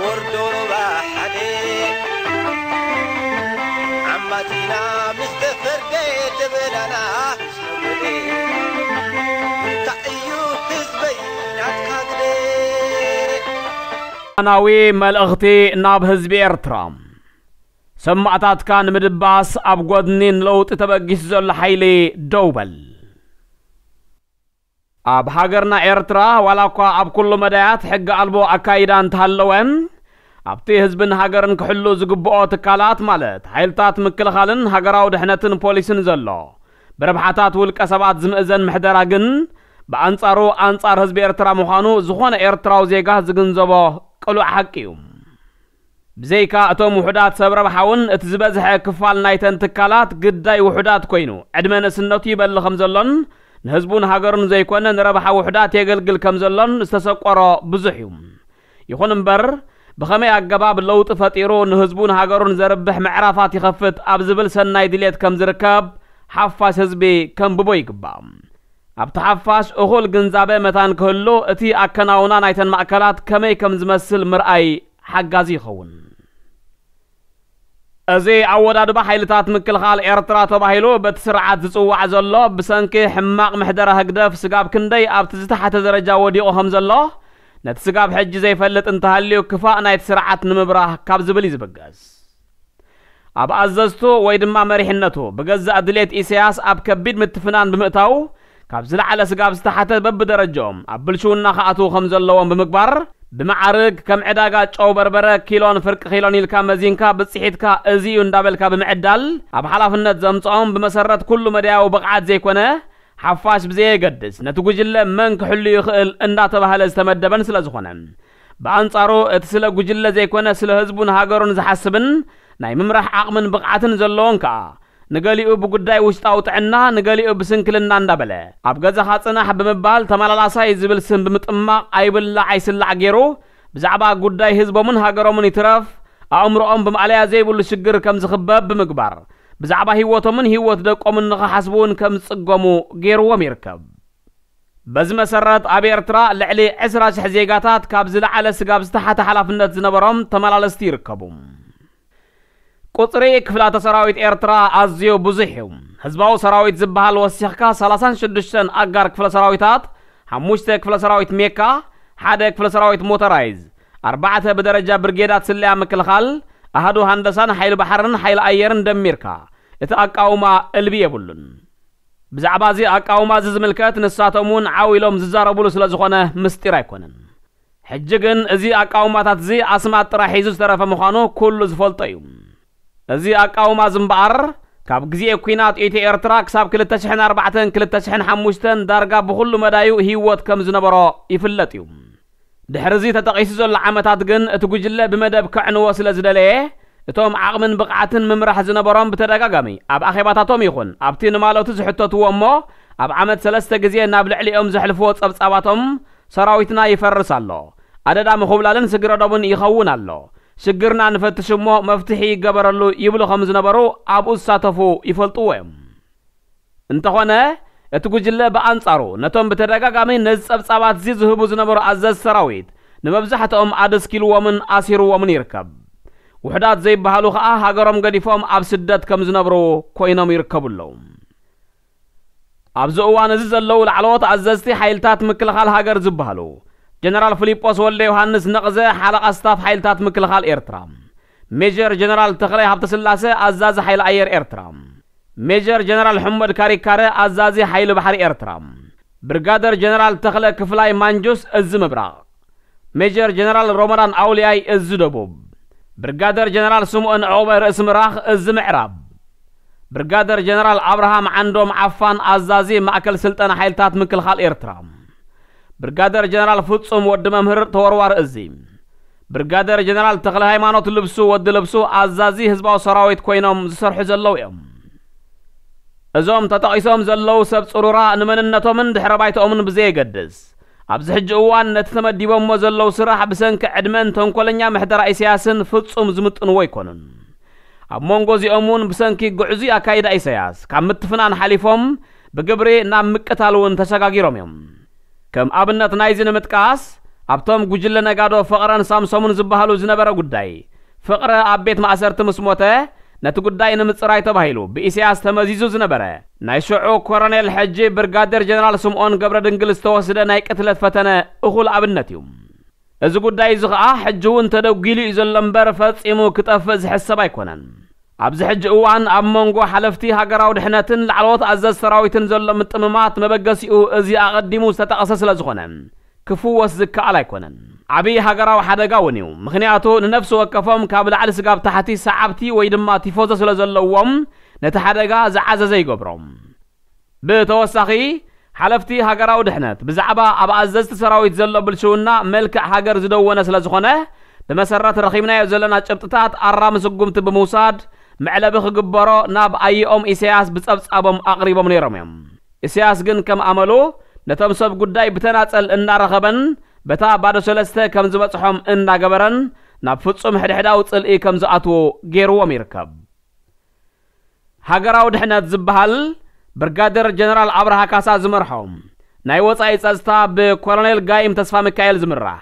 ወርዶ ሮባ ሓደ ዓማቲና ምስ ተፈርደ ደበናና ሰጉደ። እንታይ እዩ ህዝበይ ናትካ ግደ? ናዊ መልእኽቲ ናብ ህዝቢ ኤርትራ። ሰማእታትካ ንምድባስ ኣብ ጎድኒ ንለውጢ ተበጊሱ ዘሎ ሓይሊ ደው በል። ኣብ ሃገርና ኤርትራ ዋላ እኳ ኣብ ኩሉ መዳያት ሕጊ ኣልቦ ኣካይዳ እንተሃለወ፣ ኣብቲ ህዝብን ሃገርን ክሕሉ ዝግብኦ ትካላት ማለት ሓይልታት ምክልኻልን ሃገራዊ ድሕነትን ፖሊስን ዘሎ ብረብሓታት ውልቀ ሰባት ዝምእዘን ምሕደራ ግን ብኣንጻሩ ኣንጻር ህዝቢ ኤርትራ ምዃኑ ዝኾነ ኤርትራዊ ዜጋ ዝግንዘቦ ቅሉዕ ሓቂ እዩ። ብዘይካ እቶም ውሑዳት ሰብ ረብሓ እውን እቲ ዝበዝሐ ክፋል ናይተን ትካላት ግዳይ ውሑዳት ኮይኑ ዕድመ ንእስነቱ ይበሊ ከም ዘሎን ንህዝቡን ሃገሩን ዘይኮነ ንረብሓ ውሑዳት የገልግል ከም ዘሎን ዝተሰቆሮ ብዙሕ እዩ። ይኹን እምበር ብኸመይ ኣገባብ ለውጢ ፈጢሩ ንህዝቡን ሃገሩን ዘርብሕ ምዕራፋት ይኸፍት ኣብ ዝብል ሰናይ ድሌት ከም ዝርከብ ሓፋሽ ህዝቢ ከንብቦ ይግባእ። ኣብቲ ሓፋሽ እኹል ግንዛበ መታን ክህሉ እቲ ኣከናውና ናይተን ማእከላት ከመይ ከም ዝመስል ምርኣይ ሓጋዚ ይኸውን። እዚ ኣወዳድባ ሓይልታት ምክልኻል ኤርትራ ተባሂሉ በቲ ስርዓት ዝጽዋዕ ዘሎ ብሰንኪ ሕማቕ ምሕደራ ህግደፍ ስጋብ ክንደይ ኣብቲ ዝተሓተ ደረጃ ወዲቑ ከም ዘሎ ነቲ ስጋብ ሕጂ ዘይፈልጥ እንተሃልዩ ክፋእ ናይቲ ስርዓት ንምብራህ ካብ ዝብል እዩ ዝብገስ። ኣብ ኣዘዝቱ ወይ ድማ መሪሕነቱ ብገዛእ ድሌት ኢሳያስ ኣብ ከቢድ ምትፍናን ብምእታው ካብ ዝለዓለ ስጋብ ዝተሓተ በብደረጃኦም ኣብ ብልሽውና ክኣትዉ ከም ዘለዎም ብምግባር ብመዓርግ ከም ዕዳጋ ጨው በርበረ ኪሎን ፍርቂ ኪሎን ኢልካ መዚንካ ብፅሒትካ እዚ እዩ እንዳበልካ ብምዕዳል ኣብ ሓላፍነት ዘምፅኦም ብመሰረት ኩሉ መዳያዊ ብቕዓት ዘይኮነ ሓፋሽ ብዘየገድስ ነቲ ጉጅለ መን ክሕሉ ይኽእል እንዳተባህለ ዝተመደበን ስለ ዝኾነ ብኣንጻሩ እቲ ስለ ጉጅለ ዘይኮነ ስለ ህዝቡን ሃገሩን ዝሓስብን ናይ ምምራሕ ዓቕምን ብቕዓትን ዘለዎን ከኣ ንገሊኡ ብጉዳይ ውሽጣዊ ጥዕና ንገሊኡ ብስንክልና እንዳበለ ኣብ ገዛኻ ጽናሕ ብምባል ተመላላሳይ ዝብል ስም ብምጥማቕ ኣይብላዕ ኣይስላዕ ገይሩ ብዛዕባ ጉዳይ ህዝቦምን ሃገሮምን ይትረፍ ኣእምሮኦም ብማእለያ ዘይብሉ ሽግር ከም ዝኽበብ ብምግባር ብዛዕባ ህይወቶምን ህይወት ደቆምን ንኽሓስቡ እውን ከም ዝጽገሙ ገይርዎም ይርከብ። በዚ መሰረት ኣብ ኤርትራ ልዕሊ ዕስራ ሽሕ ዜጋታት ካብ ዝለዓለ ስጋብ ዝተሓተ ሓላፍነት ዝነበሮም ተመላለስቲ ይርከቡ። ቁጽሪ ክፍላተ ሰራዊት ኤርትራ ኣዝዩ ብዙሕ እዩ። ህዝባዊ ሰራዊት ዝበሃል ወሲኽካ ሰላሳን ሽዱሽተን ኣጋር ክፍለ ሰራዊታት፣ ሓሙሽተ ክፍለ ሰራዊት ሜካ፣ ሓደ ክፍለ ሰራዊት ሞተራይዝ፣ ኣርባዕተ ብደረጃ ብርጌዳት ስለያ ምክልኻል፣ ኣሃዱ ሃንደሳን ሓይሊ ባሕርን ሓይሊ ኣየርን ደሚርካ እቲ ኣቃውማ እልቢ የብሉን። ብዛዕባ እዚ ኣቃውማ እዚ ዝምልከት ንሳቶም እውን ዓው ኢሎም ዝዛረቡሉ ስለ ዝኾነ ምስጢር ኣይኮነን። ሕጂ ግን እዚ ኣቃውማታት እዚ ኣስማት ጥራሕ ሒዙ ዝተረፈ ምዃኑ ኩሉ ዝፈልጦ እዩ። እዚ ኣቃውማ እዚ እምበኣር ካብ ግዜ ኲናት ኢትዮ ኤርትራ ክሳብ ክልተ ሽሕን ኣርባዕተን ክልተ ሽሕን ሓሙሽተን ዳርጋ ብኹሉ መዳዩ ህይወት ከም ዝነበሮ ይፍለጥ እዩ። ድሕሪ እዚ ተጠቒሱ ዘሎ ዓመታት ግን እቲ ጉጅለ ብመደብ ከዕንዎ ስለ ዝደለየ እቶም ዓቕምን ብቕዓትን ምምራሕ ዝነበሮም ብተደጋጋሚ ኣብ ኣኼባታቶም ይኹን ኣብቲ ንማለቱ ዝሕተትዎ እሞ ኣብ ዓመት ሰለስተ ግዜ ናብ ልዕሊኦም ዘሕልፍዎ ጸብጻባቶም ሰራዊትና ይፈርስ ኣሎ፣ ኣደዳ ምኹብላልን ስግረዶምን ይኸውን ኣሎ፣ ሽግርና ንፈትሽ እሞ መፍትሒ ይገበረሉ ይብሉ ከም ዝነበሩ ኣብኡ ዝሳተፉ ይፈልጥዎ እዮም። እንተኾነ እቲ ጉጅለ ብኣንጻሩ ነቶም ብተደጋጋሚ ነዚ ጸብጻባት እዚ ዝህቡ ዝነበሩ ኣዘዝ ሰራዊት ንመብዛሕትኦም ኣደስኪልዎምን ኣሲርዎምን ይርከብ። ውሕዳት ዘይበሃሉ ኸኣ ሃገሮም ገዲፎም ኣብ ስደት ከም ዝነብሩ ኮይኖም ይርከቡ ኣለዉ። ኣብዚ እዋን እዚ ዘለዉ ላዕለዎት ኣዘዝቲ ሓይልታት ምክልኻል ሃገር ዝበሃሉ ጀነራል ፊሊጶስ ወልደ ዮሃንስ ነቕዘ ሓለቓ ስታፍ ሓይልታት ምክልኻል ኤርትራ፣ ሜጀር ጀነራል ተኽላይ ሃብተስላሰ ኣዛዚ ሓይሊ ኣየር ኤርትራ፣ ሜጀር ጀነራል ሕመድ ካሪካረ ኣዛዚ ሓይሊ ባሕሪ ኤርትራ፣ ብርጋደር ጀነራል ተኽለ ክፍላይ ማንጁስ እዝ ምብራቕ፣ ሜጀር ጀነራል ሮመዳን ኣውልያይ እዝ ደቡብ፣ ብርጋደር ጀነራል ስምኦን ዕቑበ ርእሲ ምራኽ እዝ ምዕራብ፣ ብርጋደር ጀነራል ኣብርሃም ዓንዶም ዓፋን ኣዛዚ ማእከል ስልጠና ሓይልታት ምክልኻል ኤርትራ፣ ብርጋደር ጀነራል ፍጹም ወዲ መምህር ተወርዋሪ እዝ፣ ብርጋደር ጀነራል ተኽለ ሃይማኖት ልብሱ ወዲ ልብሱ ኣዛዚ ህዝባዊ ሰራዊት ኮይኖም ዝሰርሑ ዘለዉ እዮም። እዞም ተጠቒሶም ዘለዉ ሰብ ጽሩራ ንመንነቶምን ድሕረ ባይተኦምን ብዘየገድስ ኣብዚ ሕጂ እዋን ነቲ ተመዲቦሞ ዘለዉ ስራሕ ብሰንኪ ዕድመን ተንኮለኛ ምሕደራ ኢሳያስን ፍጹም ዝምጥንዎ ኣይኮኑን። ኣብ መንጎ እዚኦም እውን ብሰንኪ ግዕዙይ ኣካይዳ ኢሳያስ ካብ ምትፍናን ሓሊፎም ብግብሪ ናብ ምቅታል እውን ተሰጋጊሮም እዮም። ከም ኣብነት ናይዚ ንምጥቃስ ኣብቶም ጉጅለ ነጋዶ ፍቕረን ሳምሶምን ዝበሃሉ ዝነበረ ጉዳይ፣ ፍቕረ ኣብ ቤት ማእሰርቲ ምስ ሞተ፣ ነቲ ጉዳይ ንምጽራይ ተባሂሉ ብኢሳያስ ተመዚዙ ዝነበረ ናይ ሽዑ ኮረኔል ሕጂ ብርጋዴር ጀነራል ስምኦን ገብረ ድንግል ዝተወስደ ናይ ቅትለት ፈተነ እኹል ኣብነት እዩ። እዚ ጉዳይ እዚ ኸኣ ሕጂ እውን ተደጒሉ እዩ ዘሎ እምበር ፈጺሙ ክጠፍእ ዝሕሰብ ኣይኮነን። ኣብዚ ሕጂ እዋን ኣብ መንጎ ሓለፍቲ ሃገራዊ ድሕነትን ላዕለዎት ኣዘዝ ሰራዊትን ዘሎ ምጥምማት መበገሲኡ እዚ ኣቐዲሙ ዝተጠቐሰ ስለ ዝኾነ ክፍወስ ዝከኣል ኣይኮነን። ዓብዪ ሃገራዊ ሓደጋ እውን እዩ። ምኽንያቱ ንነፍሲ ወከፎም ካብ ላዕሊ ስጋብ ታሕቲ ሰዓብቲ ወይ ድማ ቲፎዞ ስለ ዘለዎም ነቲ ሓደጋ ዝዓዘዘ ይገብሮም። ብተወሳኺ ሓለፍቲ ሃገራዊ ድሕነት ብዛዕባ ኣብ ኣዘዝቲ ሰራዊት ዘሎ ብልሽውና መልክዕ ሃገር ዝደወነ ስለ ዝኾነ ብመሰረት ረኺብናዮ ዘለና ጭብጥታት ኣራሚ ስጉምቲ ብምውሳድ መዕለቢ ክግበሮ ናብ ኣየኦም ኢሳያስ ብጸብጻቦም ኣቕሪቦም ነይሮም እዮም። ኢሳያስ ግን ከም ኣመሉ ነቶም ሰብ ጉዳይ ብተናጸል እናረኸበን በታ ባዶ ሰለስተ ከም ዝበጽሖም እናገበረን ናብ ፍጹም ሕድሕዳዊ ጽልኢ ከም ዝኣትዎ ገይርዎም ይርከብ። ሃገራዊ ድሕነት ዝበሃል ብርጋደር ጀነራል ኣብርሃ ካሳ ዝመርሖ ናይ ወጻኢ ጸጥታ ብኮሎኔል ጋይም ተስፋ ሚካኤል ዝምራሕ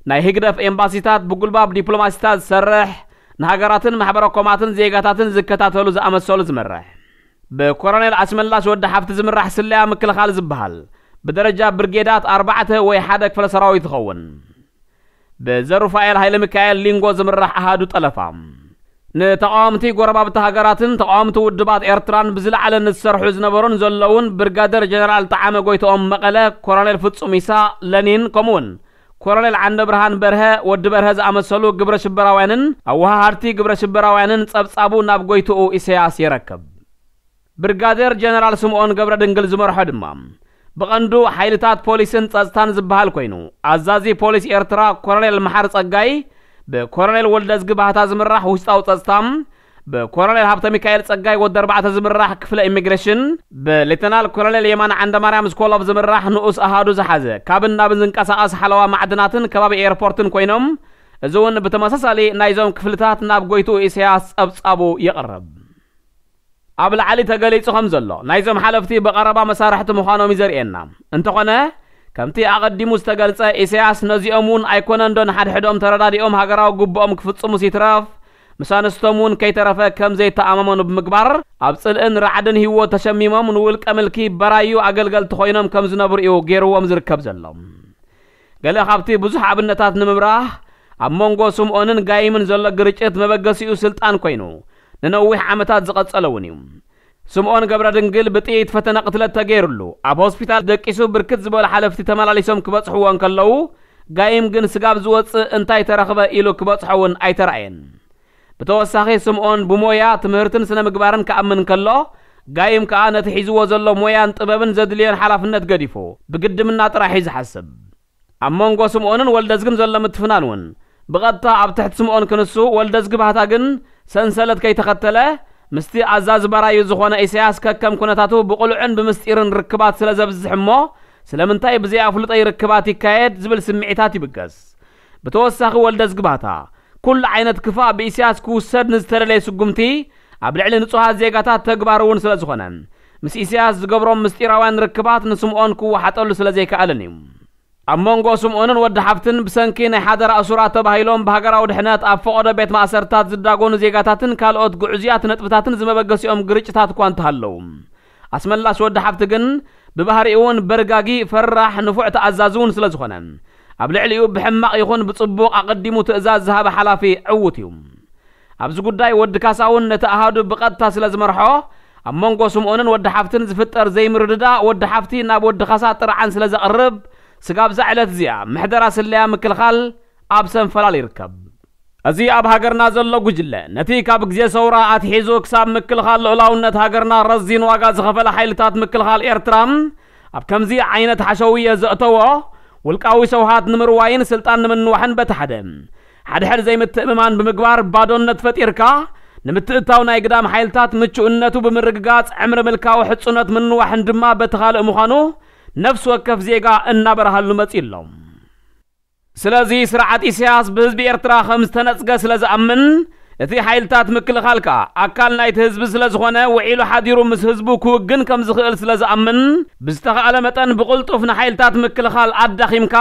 ናይ ህግደፍ ኤምባሲታት ብጉልባብ ዲፕሎማሲታት ዝሰርሕ ንሃገራትን ማሕበረ ኮማትን ዜጋታትን ዝከታተሉ ዝኣመሰሉ ዝመርሕ ብኮሎኔል ኣስመላሽ ወዲ ሓፍቲ ዝምራሕ ስለያ ምክልኻል ዝበሃል ብደረጃ ብርጌዳት ኣርባዕተ ወይ ሓደ ክፍለ ሰራዊት ዝኸውን ብዘሩፋኤል ሃይለ ሚካኤል ሊንጎ ዝምራሕ ኣሃዱ ጠለፋ ንተቃወምቲ ጎረባብቲ ሃገራትን ተቃወምቲ ውድባት ኤርትራን ብዝለዓለ ንዝሰርሑ ዝነበሩን ዘለውን ብርጋደር ጀነራል ጠዓመ ጎይትኦም መቐለ፣ ኮሎኔል ፍጹም ኢሳ ለኒን ከምኡውን ኮሎኔል ዓንደ ብርሃን በርሀ ወዲ በርሀ ዝኣመሰሉ ግብረ ሽበራውያንን ኣወሃሃድቲ ግብረ ሽበራውያንን ጸብጻቡ ናብ ጎይትኡ ኢሳያስ የረክብ። ብርጋዴር ጀነራል ስምኦን ገብረ ድንግል ዝመርሖ ድማ ብቐንዱ ሓይልታት ፖሊስን ጸጥታን ዝበሃል ኮይኑ ኣዛዚ ፖሊስ ኤርትራ ኮሎኔል መሓር ጸጋይ ብኮሎኔል ወልደዝጊ ባህታ ዝምራሕ ውሽጣዊ ጸጥታ ብኮሎኔል ሃብተ ሚካኤል ጸጋይ ወዲ ኣርባዕተ ዝምራሕ ክፍለ ኢሚግሬሽን ብሌተናል ኮሎኔል የማነ ዓንደማርያም ስኮሎቭ ዝምራሕ ንኡስ ኣሃዱ ዝሓዘ ካብን ናብን ዝንቀሳቐስ ሓለዋ ማዕድናትን ከባቢ ኤርፖርትን ኮይኖም እዚ እውን ብተመሳሳሊ ናይዞም ክፍልታት ናብ ጎይትኡ ኢሳያስ ጸብጻቡ የቕርብ። ኣብ ላዕሊ ተገሊጹ ከም ዘሎ ናይዞም ሓለፍቲ ብቐረባ መሳርሕቲ ምዃኖም እዩ ዘርእየና። እንተኾነ ከምቲ ኣቐዲሙ ዝተገልጸ ኢሳያስ ነዚኦም እውን ኣይኮነን ዶ ንሓድሕዶም ተረዳዲኦም ሃገራዊ ግብኦም ክፍጽሙስ ይትረፍ ምስ ኣንስቶም እውን ከይተረፈ ከም ዘይተኣማመኑ ብምግባር ኣብ ጽልእን ራዕድን ህይወት ተሸሚሞም ንውልቀ ምልኪ በራዩ ኣገልገልቲ ኮይኖም ከም ዝነብሩ እዩ ገይርዎም ዝርከብ ዘሎ። ገለ ካብቲ ብዙሕ ኣብነታት ንምብራህ ኣብ መንጎ ስምኦንን ጋይምን ዘሎ ግርጭት መበገሲኡ ስልጣን ኮይኑ ንነዊሕ ዓመታት ዝቐጸለ እውን እዩ። ስምኦን ገብረ ድንግል ብጥይት ፈተነ ቅትለት ተገይሩሉ ኣብ ሆስፒታል ደቂሱ ብርክት ዝበሉ ሓለፍቲ ተመላሊሶም ክበጽሕዎ እንከለዉ ጋይም ግን ስጋብ ዝወጽእ እንታይ ተረኽበ ኢሉ ክበጽሖ እውን ኣይተራእየን። ብተወሳኺ ስምኦን ብሞያ ትምህርትን ስነ ምግባርን ክኣምን ከሎ ጋይም ከኣ ነቲ ሒዝዎ ዘሎ ሞያን ጥበብን ዘድልዮን ሓላፍነት ገዲፉ ብግድምና ጥራሕ እዩ ዝሓስብ። ኣብ መንጎ ስምኦንን ወልደዝግን ዘሎ ምትፍናን እውን ብቐጥታ ኣብ ትሕቲ ስምኦን ክንሱ ወልደዝጊ ባህታ ግን ሰንሰለት ከይተኸተለ ምስቲ ኣዛዚ በራዩ ዝኾነ ኢሳያስ ከከም ኩነታቱ ብቕሉዕን ብምስጢርን ርክባት ስለ ዘብዝሕ እሞ ስለምንታይ ብዘይ ኣፍልጦ ይርክባት ይካየድ ዝብል ስምዒታት ይብገስ። ብተወሳኺ ወልደዝጊ ባህታ ኩሉ ዓይነት ክፋእ ብኢሳያስ ክውሰድ ንዝተደለየ ስጉምቲ ኣብ ልዕሊ ንጹሃት ዜጋታት ተግባር እውን ስለ ዝኾነ ምስ ኢሳያስ ዝገብሮም ምስጢራውያን ርክባት ንስምኦን ክወሓጠሉ ስለ ዘይከኣልን እዩ። ኣብ መንጎ ስምኦንን ወዲ ሓፍትን ብሰንኪ ናይ ሓደራ እሱራት ተባሂሎም ብሃገራዊ ድሕነት ኣብ ፈቐዶ ቤት ማእሰርታት ዝዳጎኑ ዜጋታትን ካልኦት ግዑዝያት ነጥብታትን ዝመበገሲኦም ግርጭታት እኳ እንተሃለዉ ኣስመላሽ ወዲ ሓፍቲ ግን ብባህሪኡ እውን በርጋጊ ፈራሕ ንፉዕ ተኣዛዚ እውን ስለ ዝኾነ ኣብ ልዕሊኡ ብሕማቕ ይኹን ብጽቡቕ ኣቐዲሙ ትእዛዝ ዝሃበ ሓላፊ ዕዉት እዩ። ኣብዚ ጉዳይ ወዲ ካሳ እውን ነቲ ኣሃዱ ብቐጥታ ስለ ዝመርሖ ኣብ መንጎ ስምኦንን ወዲ ሓፍትን ዝፍጠር ዘይምርድዳ ወዲ ሓፍቲ ናብ ወዲ ካሳ ጥርዓን ስለ ዘቕርብ ስጋብ እዛ ዕለት እዚኣ ምሕደራ ስለያ ምክልኻል ኣብ ሰንፈላል ይርከብ። እዚ ኣብ ሃገርና ዘሎ ጉጅለ ነቲ ካብ ግዜ ሰውራ ኣትሒዙ ክሳብ ምክልኻል ልኡላውነት ሃገርና ረዚን ዋጋ ዝኸፈለ ሓይልታት ምክልኻል ኤርትራ ኣብ ከምዚ ዓይነት ሓሸውየ ዘእተዎ ውልቃዊ ሸውሃት ንምርዋይን ስልጣን ንምንዋሕን በቲ ሓደ ሓድሕድ ዘይምትእምማን ብምግባር ባዶነት ፈጢርካ ንምትእታው ናይ ግዳም ሓይልታት ምቹእነቱ ብምርግጋጽ ዕምሪ ምልካዊ ሕጹነት ምንዋሕን ድማ በቲ ካልእ ምዃኑ ነፍሲ ወከፍ ዜጋ እናበርሃሉ መጺኡ ኣሎ። ስለዚ ስርዓት ኢሳያስ ብህዝቢ ኤርትራ ከም ዝተነጽገ ስለ ዝኣምን እቲ ሓይልታት ምክልኻል ከኣ ኣካል ናይቲ ህዝቢ ስለ ዝኾነ ውዒሉ ሓዲሩ ምስ ህዝቡ ክውግን ከም ዝኽእል ስለ ዝኣምን ብዝተኻእለ መጠን ብቕልጡፍ ንሓይልታት ምክልኻል ኣዳኺምካ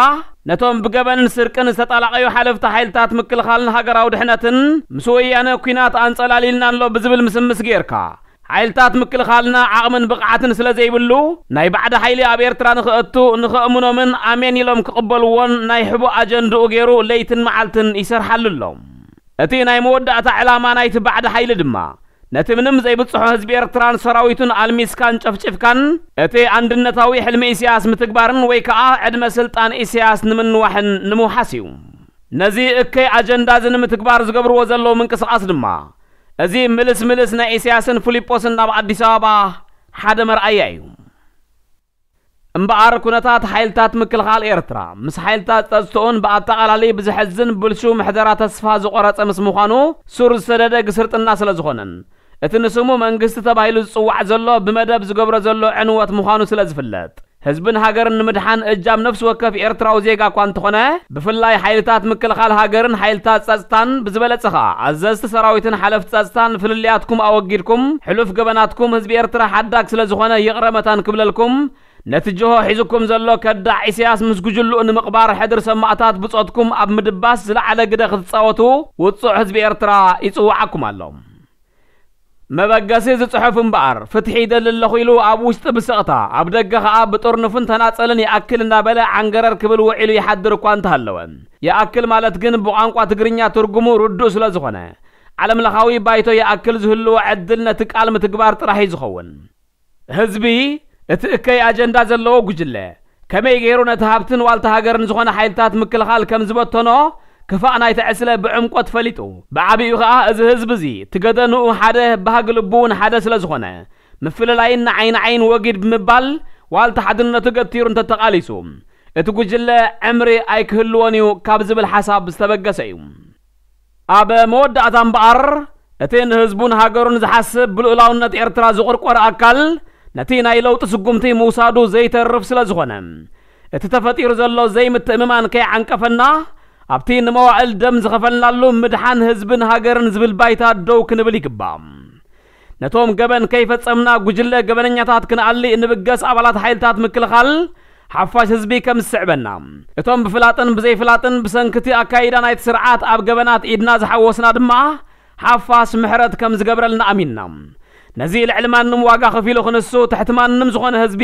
ነቶም ብገበንን ስርቅን ዝተጣላቐዩ ሓለፍቲ ሓይልታት ምክልኻልን ሃገራዊ ድሕነትን፣ ምስ ወያነ ኲናት ኣንጸላሊልና ኣሎ ብዝብል ምስምስ ጌርካ፣ ሓይልታት ምክልኻልና ዓቕምን ብቕዓትን ስለ ዘይብሉ፣ ናይ ባዕዲ ሓይሊ ኣብ ኤርትራ ንኽእቱ፣ ንኸእምኖምን ኣሜን ኢሎም ክቕበልዎን ናይ ሕቡእ ኣጀንድኡ ገይሩ ለይትን መዓልትን ይሰርሓሉ ኣሎ። እቲ ናይ መወዳእታ ዕላማ ናይቲ ባዕዲ ሓይሊ ድማ፣ ነቲ ምንም ዘይብጽሖ ህዝቢ ኤርትራን ሰራዊቱን ኣልሚስካን ጨፍጭፍካን፣ እቲ ኣንድነታዊ ሕልሚ ኢሳያስ ምትግባርን ወይ ከኣ ዕድመ ስልጣን ኢሳያስ ንምንዋሕን ንምውሓስ እዩ። ነዚ እከይ ኣጀንዳ እዚ ንምትግባር ዝገብርዎ ዘለዉ ምንቅስቓስ ድማ፣ እዚ ምልስ ምልስ ናይ ኢሳያስን ፊሊጶስን ናብ ኣዲስ ኣበባ ሓደ መርኣያ እዩ። እምበኣር፣ ኩነታት ሓይልታት ምክልኻል ኤርትራ ምስ ሓይልታት ጸጥትኡን ብኣጠቓላሊ ብዘሕዝን ብልሹ ምሕደራ ተስፋ ዝቖረጸ ምስ ምዃኑ፣ ሱር ዝሰደደ ግስርጥና ስለ ዝኾነን፣ እቲ ንስሙ መንግስቲ ተባሂሉ ዝጽዋዕ ዘሎ ብመደብ ዝገብሮ ዘሎ ዕንወት ምዃኑ ስለ ዝፍለጥ፣ ህዝብን ሃገርን ንምድሓን እጃም ነፍሲ ወከፍ ኤርትራዊ ዜጋ እኳ እንተኾነ፣ ብፍላይ ሓይልታት ምክልኻል ሃገርን ሓይልታት ጸጥታን፣ ብዝበለጸ ኸኣ ኣዘዝቲ ሰራዊትን ሓለፍቲ ጸጥታን ፍልልያትኩም ኣወጊድኩም፣ ሕሉፍ ገበናትኩም ህዝቢ ኤርትራ ሓዳግ ስለ ዝኾነ ይቕረ መታን ክብለልኩም፣ ነቲ ጅሆ ሒዙኩም ዘሎ ከዳዕ ኢሳያስ ምስ ጉጅልኡ ንምቕባር ሕድሪ ሰማእታት ብጾትኩም ኣብ ምድባስ ዝለዓለ ግደ ክትጻወቱ ውጹዕ ህዝቢ ኤርትራ ይጽውዓኩም ኣሎ። መበገሲ እዚ ጽሑፍ እምበኣር፣ ፍትሒ ይደሊ ኣለኹ ኢሉ ኣብ ውሽጢ ብስቕታ፣ ኣብ ደገ ኸኣ ብጥርኑፍን ተናጸልን ይኣክል እናበለ ዓንገረር ክብል ውዒሉ ይሓድር እኳ እንተሃለወ፣ ይኣክል ማለት ግን ብቋንቋ ትግርኛ ትርጉሙ ርዱእ ስለ ዝኾነ፣ ዓለምለኻዊ ባይቶ ይኣክል ዝህልዎ ዕድል ነቲ ቃል ምትግባር ጥራሕ እዩ ዝኸውን። ህዝቢ፣ እቲ እከይ ኣጀንዳ ዘለዎ ጉጅለ፣ ከመይ ገይሩ ነቲ ሃብትን ዋልታ ሃገርን ዝኾነ ሓይልታት ምክልኻል ከም ዝበተኖ ክፋእ ናይቲ ዕስለ ብዕምቆት ፈሊጡ፣ ብዓቢኡ ኸኣ እዚ ህዝቢ እዚ፣ እቲ ገደንኡ ሓደ፣ ባህጊ ልቡ እውን ሓደ ስለ ዝኾነ፣ ምፍልላይን ንዓይ ንዓይን ወጊድ ብምባል ዋልታ ሓድነቱ ገቲሩ እንተተቓሊሱ፣ እቲ ጉጅለ ዕምሪ ኣይክህልዎን እዩ ካብ ዝብል ሓሳብ ዝተበገሰ እዩ። ኣብ መወዳእታ እምበኣር፣ እቲ ንህዝቡን ሃገሩን ዝሓስብ ብልኡላውነት ኤርትራ ዝቑርቆር ኣካል፣ ነቲ ናይ ለውጢ ስጉምቲ ምውሳዱ ዘይተርፍ ስለ ዝኾነ፣ እቲ ተፈጢሩ ዘሎ ዘይምትእምማን ከይዓንቀፈና፣ ኣብቲ ንመዋእል ደም ዝኸፈልናሉ ምድሓን ህዝብን ሃገርን ዝብል ባይታ ደው ክንብል ይግባእ። ነቶም ገበን ከይፈጸምና ጉጅለ ገበነኛታት ክንኣሊ እንብገስ ኣባላት ሓይልታት ምክልኻል፣ ሓፋሽ ህዝቢ ከም ዝስዕበና፣ እቶም ብፍላጥን ብዘይፍላጥን ብሰንክቲ ኣካይዳ ናይቲ ስርዓት ኣብ ገበናት ኢድና ዝሓወስና ድማ፣ ሓፋሽ ምሕረት ከም ዝገብረልና ኣሚንና፣ ነዚ ልዕሊ ማንም ዋጋ ከፊሉ ክንሱ፣ ትሕቲ ማንም ዝኾነ ህዝቢ፣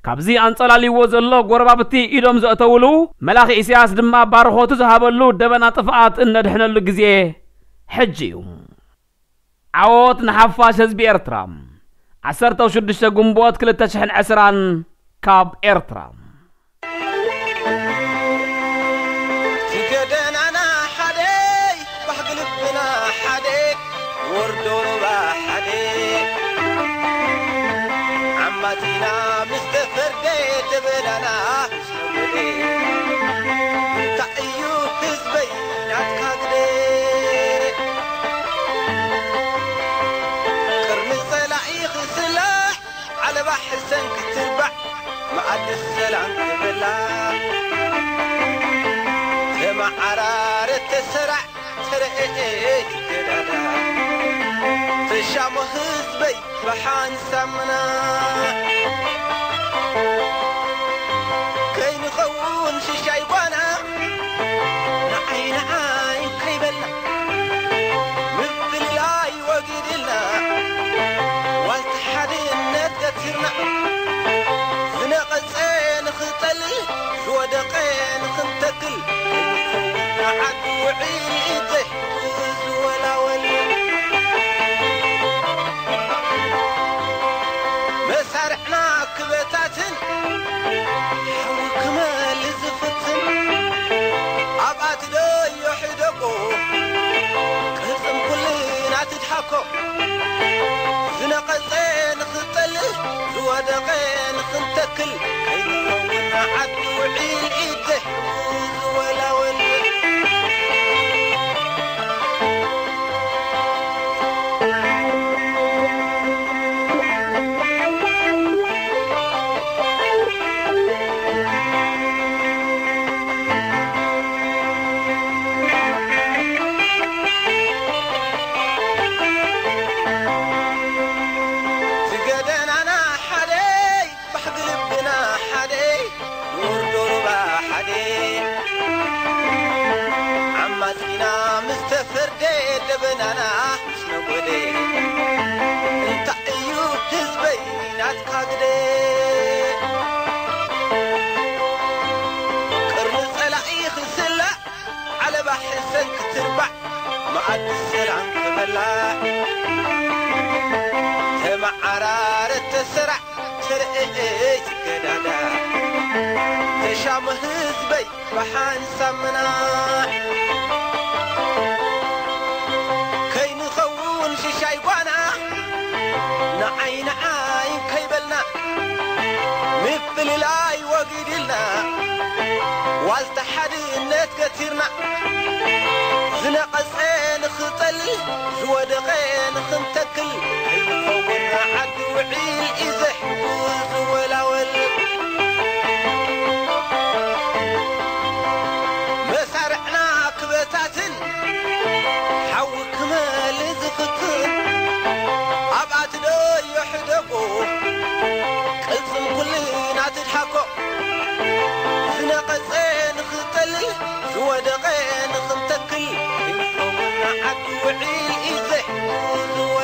ካብዚ ኣንጸላልይዎ ዘሎ ጎረባብቲ ኢዶም ዘእተውሉ፣ መላኺ ኢሳያስ ድማ ባርኾቱ ዝሃበሉ ደበና ጥፍኣት እነድሕነሉ ግዜ ሕጂ እዩ። ዓወት ንሓፋሽ ህዝቢ ኤርትራ። ዓሰርተ ሽዱሽተ ግንቦት ክልተ ሽሕን ዕስራን ካብ ኤርትራ። እቲ ገደናና ሓደ፣ ባህጊ ልብና ሓደ፣ ወርዶ ሩባ ሓደ፣ ዓማጺና ምስ ተፈርደ ደበናና ምስ ተወደ። እንታይ እዩ ህዝበይ ናትካ ግደ? ቅርኒ ጸላኢ ክስላዕ፣ ዓለባ ሕሰን ክትባዕ፣ መኣዲ ሰላም ክበላዕ። ተመዓራረ፣ ተሰራዕ፣ ተረኤ፣ ተዳዳ። ተሻሞ ህዝበይ ብሓንሳምና ከይንኸውን ሽሻይ ጓና፣ ንዓይ ንዓይ ከይበልና ምፍልላይ ወጊድልና፣ ዋልታ ሓድነት ገቲርና፣ ዝነቐጸ ንኽንጠልል፣ ዝወደቐ ንኽንተክል፣ ከይንኸውን ንዓዱ ውዒል ዘይሕቱ ዝወላወል። መሳርዕና ክበታትን፣ ሓዊ ክመልእ ዝፍትን፣ ኣብኣ ትደዮ ሕደጎ፣ ቅልጽም ኩልና ትድሃኮ። ዝነቐጸ ንኽንጠልል፣ ዝወደቐ ንኽንተክል፣ ከይንኸውን ንዓዱ ውዒል ኢድ ዘይሕቱ ዝወላወል። እቲ ገደናና ሓደ፣ ባህጊ ልብና ሓደ፣ ወርደ ደበናና ምስ ነጎደ፣ እንታይ እዩ ህዝበይ ናትካ ግደ? ቅርኒ ጸላኢ ክስላዕ፣ ዓለባ ሕሰን ክትርባዕ፣ መኣዲ ሰላም ክበላዕ፣ ተመዓራረ ተሰራዕ፣ ተረኤ ትገዳዳ፣ ተሻመ ህዝበይ ብሓንሳብ ምናሕ። ከይንኸውን ሽሻይ ጓና፣ ንዓይ ንዓይ ከይበልና፣ ምፍልላይ ወጊድልና፣ ዋልታ ሓድነት ገቲርና፣ ዝነቐጸ ንኽጠልል፣ ዝወደቐ ንኽንተክል፣ ከይንኸውን ዓዲ ውዒል እዩ ዘሕጉስ ዝወላወል። መሳርዕና ክበታትን፣ ሓዊ ክመል ዝፍትን፣ ኣብኣ ትደዮ ሕደጎ፣ ቅልጽም ኩልና ትድሓኮ። ዝነቐጸ ንኽጠልል፣ ዝወደቐ ንኽንተክል፣ ክንኸውን ዓዲ ውዒል እዩ ዘሕጉስ ዝወ